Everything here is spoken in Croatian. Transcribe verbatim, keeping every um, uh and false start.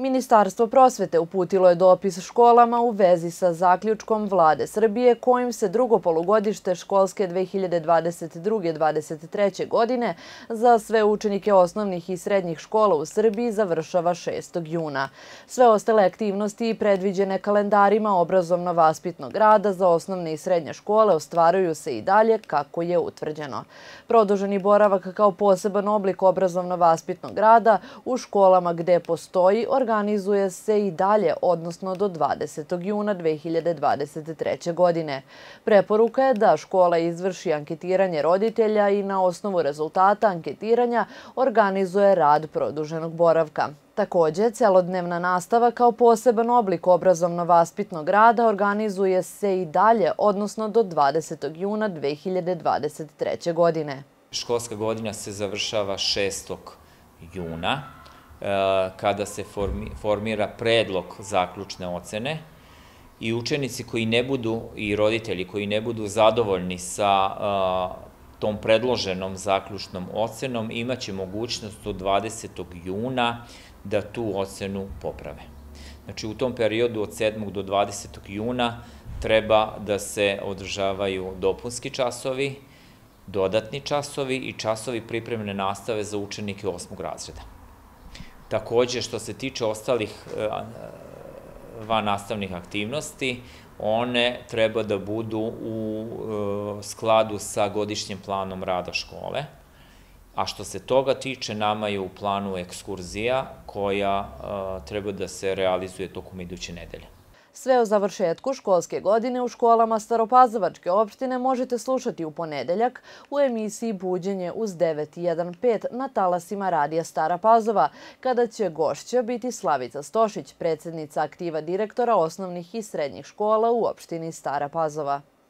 Ministarstvo prosvete uputilo je dopis školama u vezi sa zaključkom Vlade Srbije kojim se drugo polugodište školske dve hiljade dvadeset druge dvadeset treće. godine za sve učenike osnovnih i srednjih škola u Srbiji završava šestog juna. Sve ostale aktivnosti predviđene kalendarima obrazovno-vaspitnog rada za osnovne i srednje škole ostvaruju se i dalje kako je utvrđeno. Produženi boravak kao poseban oblik obrazovno-vaspitnog rada u školama gde postoji organizuje se i dalje, odnosno do dvadesetog juna dve hiljade dvadeset treće. godine. Preporuka je da škola izvrši anketiranje roditelja i na osnovu rezultata anketiranja organizuje rad produženog boravka. Također, celodnevna nastava kao poseban oblik obrazovno-vaspitnog rada organizuje se i dalje, odnosno do dvadesetog juna dve hiljade dvadeset treće. godine. Školska godina se završava šestog juna, kada se formira predlog zaključne ocene i učenici koji ne budu i roditelji koji ne budu zadovoljni sa tom predloženom zaključnom ocenom imaće mogućnost do dvadesetog juna da tu ocenu poprave. Znači, u tom periodu od sedmog do dvadesetog juna treba da se održavaju dopunski časovi, dodatni časovi i časovi pripremne nastave za učenike osmog razreda. Također, što se tiče ostalih vannastavnih aktivnosti, one treba da budu u skladu sa godišnjim planom rada škole, a što se toga tiče, nama je u planu ekskurzija koja treba da se realizuje tokom iduće nedelje. Sve o završetku školske godine u školama Staropazovačke opštine možete slušati u ponedeljak u emisiji Buđenje uz devet pet na talasima Radija Stara Pazova, kada će gošća biti Slavica Stošić, predsjednica aktiva direktora osnovnih i srednjih škola u opštini Stara Pazova.